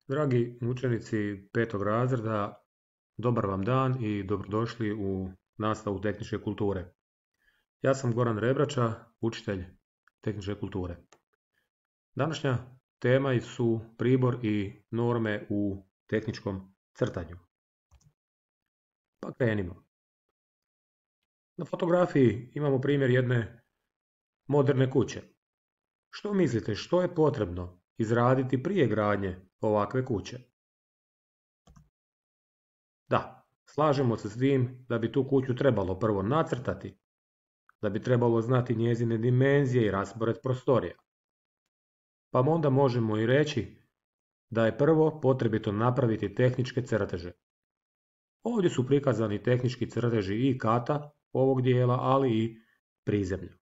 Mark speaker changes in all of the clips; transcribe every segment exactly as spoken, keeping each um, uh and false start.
Speaker 1: Dragi učenici petog razreda, dobar vam dan i dobrodošli u nastavu tehničke kulture. Ja sam Goran Rebrača, učitelj tehničke kulture. Današnja tema su pribor i norme u tehničkom crtanju. Pa krenimo. Na fotografiji imamo primjer jedne moderne kuće. Što mislite, što je potrebno izraditi prije gradnje ovakve kuće? Da, slažemo se s tim da bi tu kuću trebalo prvo nacrtati, da bi trebalo znati njezine dimenzije i raspored prostorija. Pa onda možemo i reći da je prvo potrebito napraviti tehničke crteže. Ovdje su prikazani tehnički crteži i kata ovog dijela, ali i prizemlja.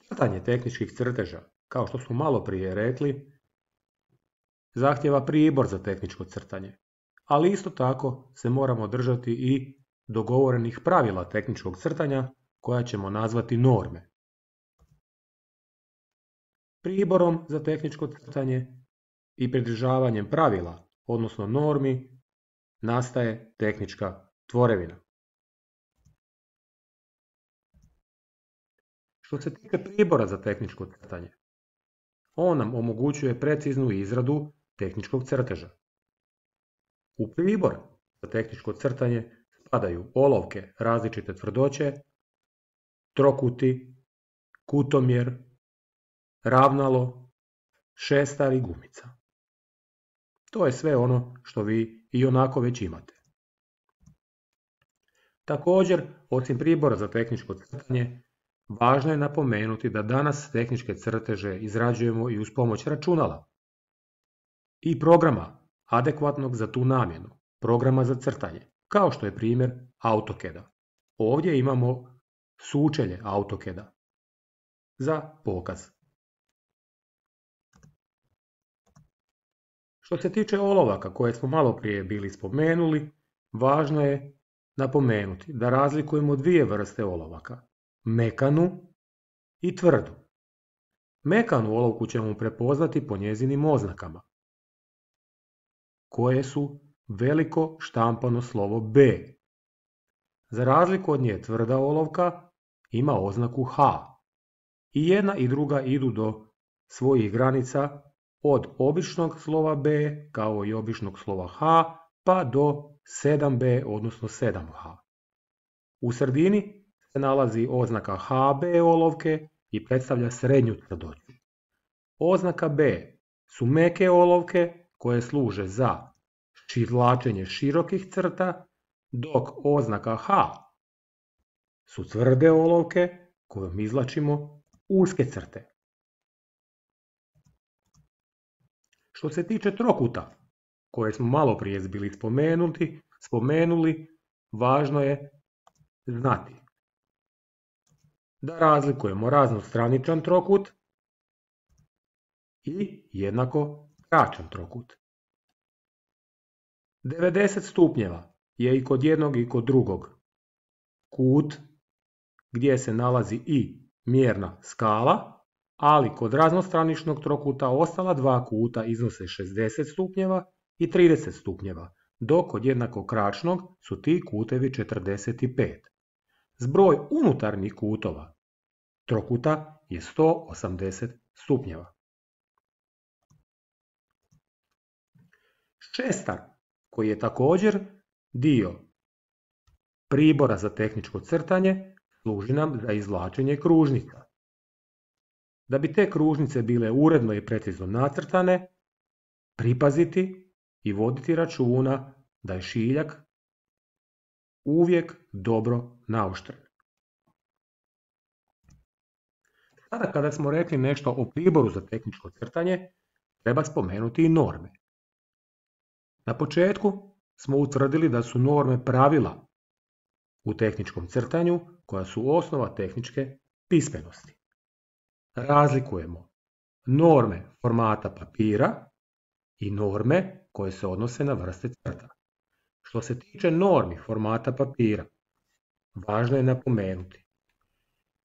Speaker 1: Crtanje tehničkih crteža, kao što smo malo prije rekli, zahtjeva pribor za tehničko crtanje, ali isto tako se moramo držati i dogovorenih pravila tehničkog crtanja koja ćemo nazvati norme. Priborom za tehničko crtanje i pridržavanjem pravila, odnosno normi, nastaje tehnička tvorevina. Što se tiče pribora za tehničko crtanje, on nam omogućuje preciznu izradu tehničkog crteža. U pribor za tehničko crtanje spadaju olovke različite tvrdoće, trokuti, kutomjer, ravnalo, šestar i gumica. To je sve ono što vi i onako već imate. Također, osim pribora za tehničko crtanje, važno je napomenuti da danas tehničke crteže izrađujemo i uz pomoć računala i programa adekvatnog za tu namjenu, programa za crtanje, kao što je primjer AutoCAD-a. Ovdje imamo sučelje AutoCAD-a za pokaz. Što se tiče olovaka koje smo malo prije bili spomenuli, važno je napomenuti da razlikujemo dvije vrste olovaka, mekanu i tvrdu. Mekanu olovku ćemo prepoznati po njezinim oznakama, koje su veliko štampano slovo B. Za razliku od nje tvrda olovka ima oznaku H. I jedna i druga idu do svojih granica od običnog slova B kao i običnog slova H pa do sedam B odnosno sedam H. U sredini se nalazi oznaka H B olovke i predstavlja srednju tvrdoću. Oznaka B su meke olovke koje služe za izvlačenje širokih crta, dok oznaka H su tvrde olovke kojom izvlačimo uske crte. Što se tiče trokuta, koje smo malo prije bili spomenuti, spomenuli, važno je znati da razlikujemo raznostraničan trokut i jednako kraćan trokut. devedeset stupnjeva je i kod jednog i kod drugog kut gdje se nalazi i mjerna skala, ali kod raznostraničnog trokuta ostala dva kuta iznose šezdeset stupnjeva i trideset stupnjeva, dok kod jednako kraćnog su ti kutevi četrdeset pet. Zbroj unutarnjih kutova trokuta je sto osamdeset stupnjeva. Šestar, koji je također dio pribora za tehničko crtanje, služi nam za izvlačenje kružnica. Da bi te kružnice bile uredno i precizno nacrtane, pripaziti i voditi računa da je šiljak uvijek dobro naoštren. Sada kada smo rekli nešto o priboru za tehničko crtanje, treba spomenuti i norme. Na početku smo utvrdili da su norme pravila u tehničkom crtanju koja su osnova tehničke pismenosti. Razlikujemo norme formata papira i norme koje se odnose na vrste crta. Što se tiče normi formata papira, važno je napomenuti.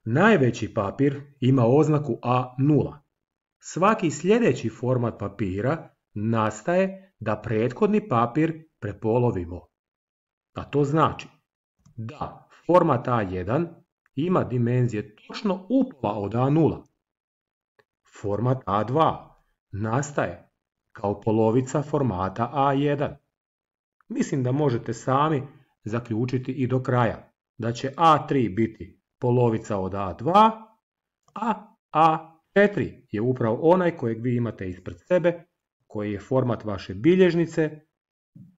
Speaker 1: Najveći papir ima oznaku A nula, svaki sljedeći format papira nastaje da prethodni papir prepolovimo. A to znači da format A jedan ima dimenzije točno upola od A nula. Format A dva nastaje kao polovica formata A jedan. Mislim da možete sami zaključiti i do kraja da će A tri biti polovica od A dva, a A četiri je upravo onaj kojeg vi imate ispred sebe, koji je format vaše bilježnice,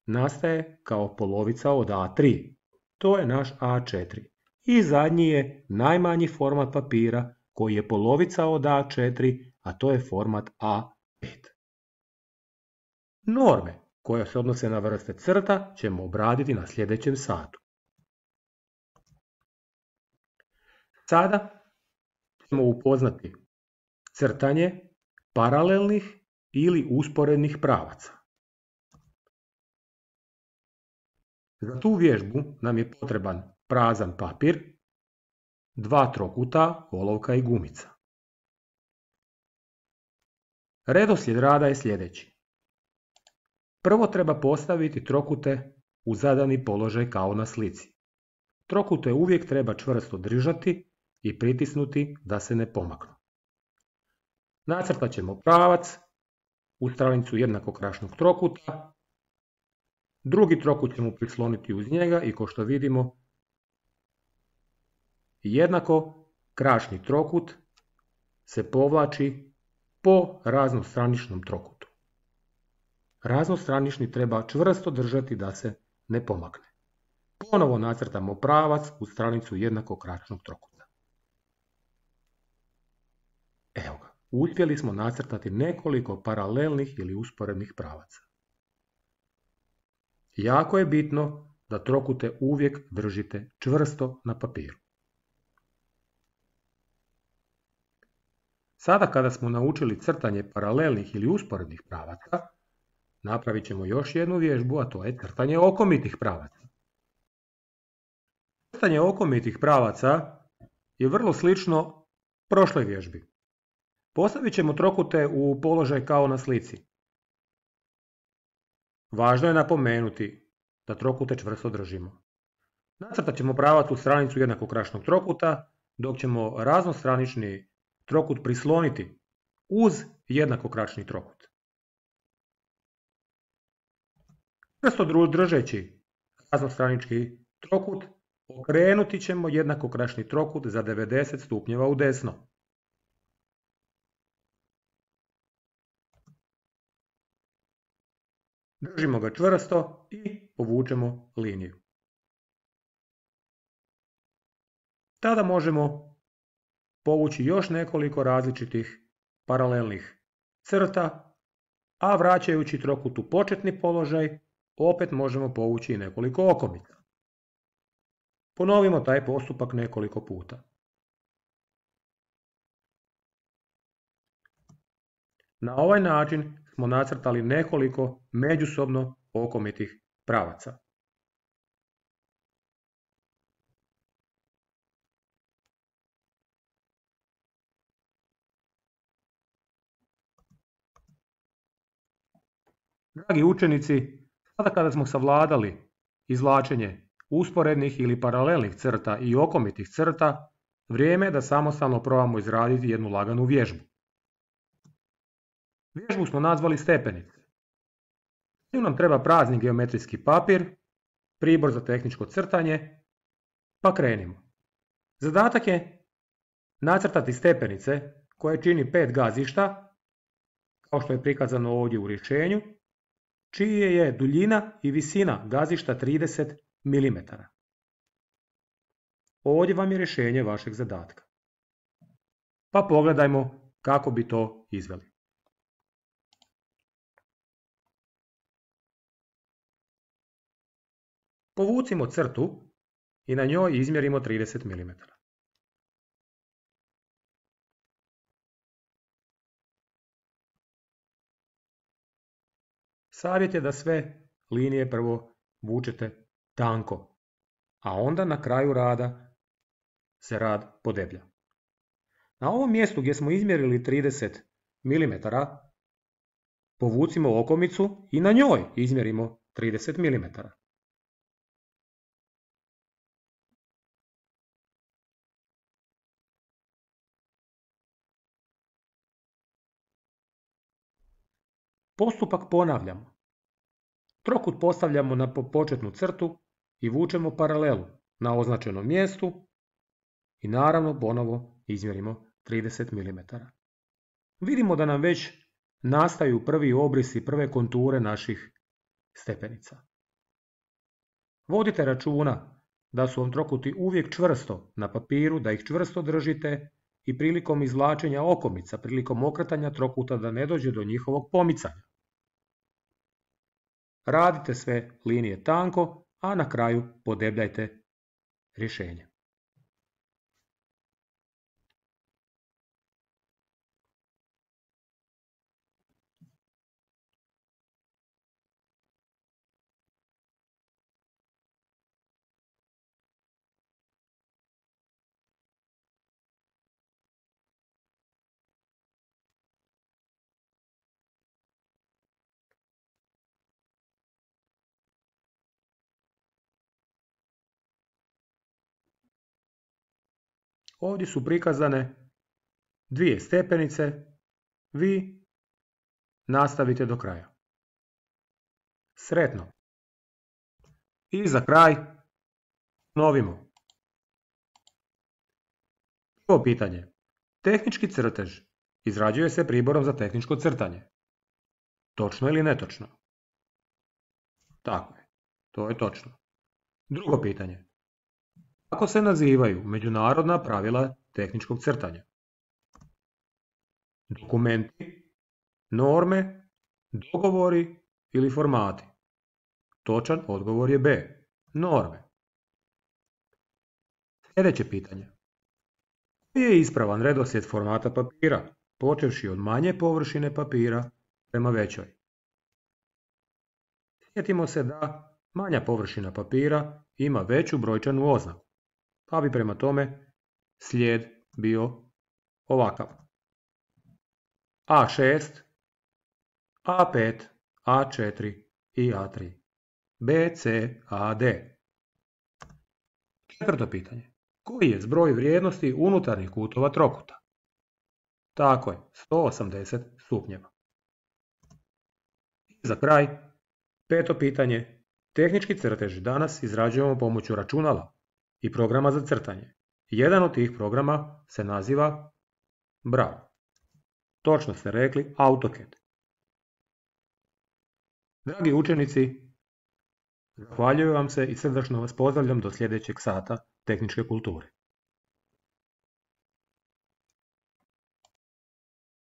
Speaker 1: nastaje kao polovica od A tri. To je naš A četiri. I zadnji je najmanji format papira koji je polovica od A četiri, a to je format A pet. Norme koje se odnose na vrste crta ćemo obraditi na sljedećem satu. Sada ćemo upoznati crtanje paralelnih ili usporednih pravaca. Za tu vježbu nam je potreban prazan papir, dva trokuta, olovka i gumica. Redoslijed rada je sljedeći. Prvo treba postaviti trokute u zadani položaj kao na slici. Trokute uvijek treba čvrsto držati i pritisnuti da se ne pomaknu. Nacrtat ćemo pravac u stranicu jednakokrašnog trokuta. Drugi trokut ćemo prisloniti uz njega i kao što vidimo jednako krašni trokut se povlači po raznostraničnom trokutu. Raznostranični treba čvrsto držati da se ne pomakne. Ponovo nacrtamo pravac u stranicu jednakokrašnog trokuta. Evo ga, uspjeli smo nacrtati nekoliko paralelnih ili usporednih pravaca. Jako je bitno da trokute uvijek držite čvrsto na papiru. Sada kada smo naučili crtanje paralelnih ili usporednih pravaca, napravit ćemo još jednu vježbu, a to je crtanje okomitih pravaca. Crtanje okomitih pravaca je vrlo slično prošloj vježbi. Postavit ćemo trokute u položaj kao na slici. Važno je napomenuti da trokute čvrsto držimo. Nacrtat ćemo pravac u stranicu jednakokrašnog trokuta, dok ćemo raznostranični trokut prisloniti uz jednakokrašni trokut. Čvrsto držeći raznostranički trokut, okrenuti ćemo jednakokrašni trokut za devedeset stupnjeva u desno. Držimo ga čvrsto i povučemo liniju. Tada možemo povući još nekoliko različitih paralelnih crta, a vraćajući trokut u početni položaj, opet možemo povući i nekoliko okomita. Ponovimo taj postupak nekoliko puta. Na ovaj način smo nacrtali nekoliko međusobno okomitih pravaca. Dragi učenici, sada kada smo savladali izvlačenje usporednih ili paralelnih crta i okomitih crta, vrijeme je da samostalno probamo izraditi jednu laganu vježbu. Vježbu smo nazvali stepenice. Tu nam treba prazni geometrijski papir, pribor za tehničko crtanje, pa krenimo. Zadatak je nacrtati stepenice koje čini pet gazišta, kao što je prikazano ovdje u rješenju, čije je duljina i visina gazišta trideset milimetara. Ovdje vam je rješenje vašeg zadatka. Pa pogledajmo kako bi to izveli. Povucimo crtu i na njoj izmjerimo trideset milimetara. Savjet je da sve linije prvo vučete tanko, a onda na kraju rada se rad podeblja. Na ovom mjestu gdje smo izmjerili trideset milimetara, povucimo okomicu i na njoj izmjerimo trideset milimetara. Postupak ponavljamo. Trokut postavljamo na početnu crtu i vučemo paralelu na označenom mjestu i naravno ponovo izmjerimo trideset milimetara. Vidimo da nam već nastaju prvi obrisi, prve konture naših stepenica. Vodite računa da su vam trokuti uvijek čvrsto na papiru, da ih čvrsto držite i prilikom izvlačenja okomica, prilikom okretanja trokuta da ne dođe do njihovog pomicanja. Radite sve linije tanko, a na kraju podebljajte rješenje. Ovdje su prikazane dvije stepenice, vi nastavite do kraja. Sretno! I za kraj ponovimo. Prvo pitanje. Tehnički crtež izrađuje se priborom za tehničko crtanje. Točno ili netočno? Tako je, to je točno. Drugo pitanje. Kako se nazivaju međunarodna pravila tehničkog crtanja? Dokumenti, norme, dogovori ili formati? Točan odgovor je B. Norme. Sljedeće pitanje. Koji je ispravan redoslijed formata papira, počevši od manje površine papira prema većoj? Sjetimo se da manja površina papira ima veću brojčanu oznaku, pa bi prema tome slijed bio ovakav. A šest, A pet, A četiri i A tri. B, C, A, D. Četvrto pitanje. Koji je zbroj vrijednosti unutarnjih kutova trokuta? Tako je, sto osamdeset stupnjeva. I za kraj, peto pitanje. Tehnički crtež danas izrađujemo pomoću računala i programa za crtanje. Jedan od tih programa se naziva Bravo. Točno ste rekli AutoCAD. Dragi učenici, zahvaljujem vam se i srdačno vas pozdravljam do sljedećeg sata tehničke kulture.